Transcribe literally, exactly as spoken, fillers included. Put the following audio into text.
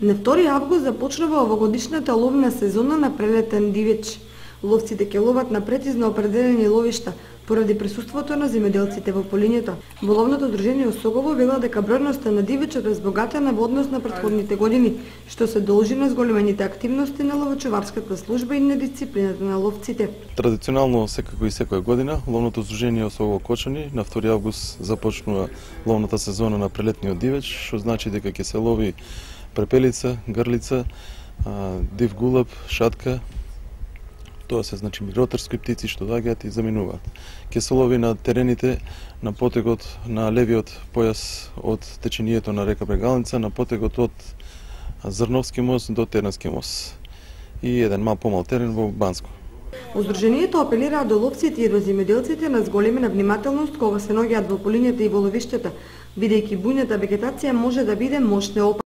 На втори август започнува овогодишната ловна сезона на прелетен дивеч. Ловците ќе ловат на прецизно определени ловишта поради присуството на земјоделците во полињето. Во ловното дружение Осогово вела дека бројноста на дивечот е збогатена во однос на претходните години, што се должи на зголемените активности на ловочуварската служба и на дисциплината на ловците. Традиционално секако и секоја година ловното дружение Осогово Кочани на втори август започнува ловната сезона на прелетниот дивеч, што значи дека ќе се лови препелица, грлица, див гулаб, шатка. Тоа се значи миграторски птици што доаѓаат и заминуваат. Ќе се лови на терените на потегот на левиот појас од течението на река Брегалница, на потегот од Зрновски мост до Тернавски мост и еден мал помал терен во Банско. Уздруженијето апелира до ловците и до земјоделците на зголемена внимателност кога се наоѓаат во полињата и во ловиштата, бидејќи бујната вегетација може да биде мощна опасност.